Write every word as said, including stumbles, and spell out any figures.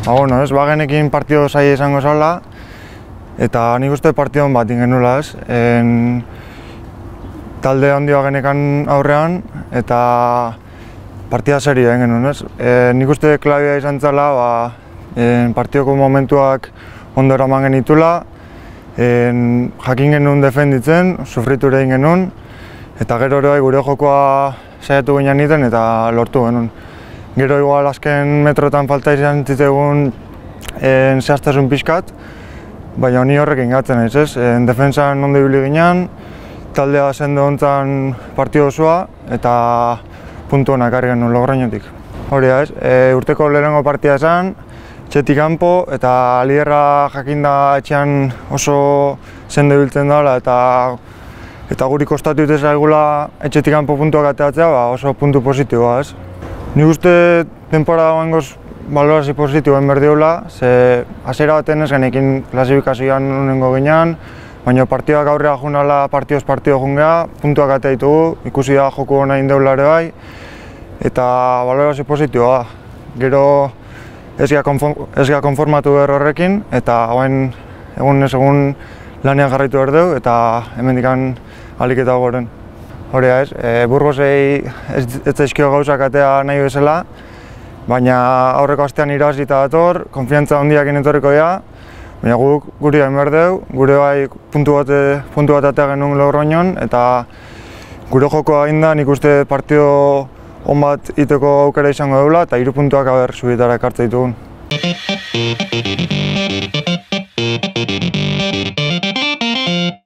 Ba, bueno, ez, bagenekin partido zaila izango zala, eta nik uste partidon bat ingenula, ez. En, talde handi bagenekan aurrean, eta partida serio egin genuen, ez. E, nik uste klabia izan zala, ba, en, partidoko momentuak ondo eraman genitula, en, jakin genuen defenditzen, sufritu ere egin genuen, eta gero ere gure jokoa saiatu ginen egiten eta lortu genuen. Gero igual azken metrotan falta izan zitzegun zehaztasun pixkat, baina ni horrekin gatzen naiz, ez? En defentsan ondo ibili ginen, taldea sendo hontan partido osoa eta puntu onak ekarri genuen Logroñotik. Hori da, ez? E, urteko lehenengo partida esan, etxetik kanpo eta liderra jakinda etxean oso sendo ibiltzen dela eta eta guri kostatu dute zaigula etxetik kanpo puntuak ateratzea, ba, oso puntu positiboa, ez? Nik uste temporada goengoz balorazio positiboen berdiola, ze hasiera baten ez genekin klasifikazioan nonengo ginean, baina partidak aurrera junala partioz partio jungea, puntuak atea ditugu, ikusi da joku hona indeula ere bai, eta balorazio positiboa. Gero ez gara konformatu behar horrekin, eta hauen egun ez egun lanean jarraitu behar dugu, eta hemendikan ahalik eta goren. Hori da ez, e, Burgosei ez, ez zaizkio gauzak atea nahi bezala, baina aurreko astean irabazita dator, konfiantza handiakin etorriko dira, baina guk guri hain behar dugu, gure bai puntu bat, puntu bat atea genuen Logroñon, eta gure jokoa egin da nik uste partido on bat iteko aukera izango dugula, eta hiru puntuak aber subitara ekartzen ditugun.